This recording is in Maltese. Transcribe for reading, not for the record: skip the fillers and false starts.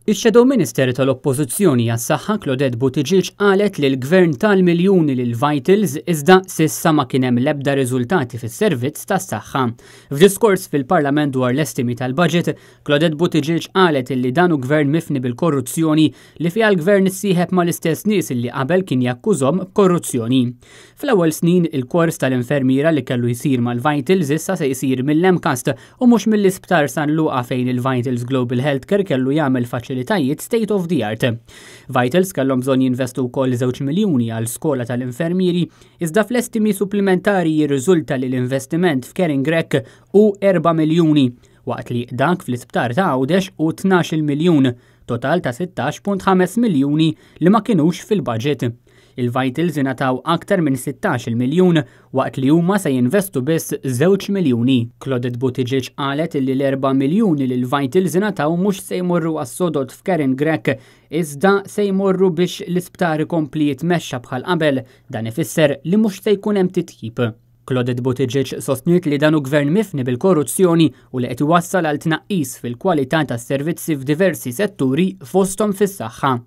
Ix-Shadow Minister tal-Oppożizzjoni għas-Saħħa Claudette Buttigieg qalet li l-Gvern ta l-miljuni lil Vitals iżda s'issa ma kien hemm l-ebda riżultati fis-servizz tas-saħħa. F'diskors fil-Parlament dwar l-estimi tal-budget, Claudette Buttigieg qalet illi dan hu gvern mifni bil-korruzzjoni li fiha l-gvern issieħeb mal-istess nies illi qabel kien jakkużhom b'korruzzjoni. Fl-ewwel snin, il-kors tal-infermiera li kellu jsir mal-Vitals issa se jsir mill-MCAST u mhux mill-Isptar San Luqa fejn il-Vitals Global Healthcare kellu jagħmel faċilitajiet state of the art. Vitals kellhom bżonn jinvestu wkoll 2 miljuni għal skola tal-infermieri, iżda fl-estimi supplementari jirriżulta li l-investiment f'Karin Grech hu 4 miljuni, waqt li dak fl-isptar ta' Għawdex hu 12 miljun, total ta' 16.5 miljuni li ma kinux fil-budget. Il-Vitals ingħataw aktar minn 16 miljun waqt li huma se jinvestu biss 2 miljuni. Claudette Buttigieg qalet li l-4 miljuni li l-Vitals ingħataw mhux se jmorru għas-sodod f'Karin Grech, iżda se jmorru biex l-isptar ikompli jitmexxa bħal qabel. Dan ifisser li mhux se jkun hemm titjib. Claudette Buttigieg sostniet li dan hu gvern mifni bil-korruzzjoni u li qed iwassal għal tnaqqis fil-kwalità tas-servizzi f'diversi setturi, fosthom fis-saħħa.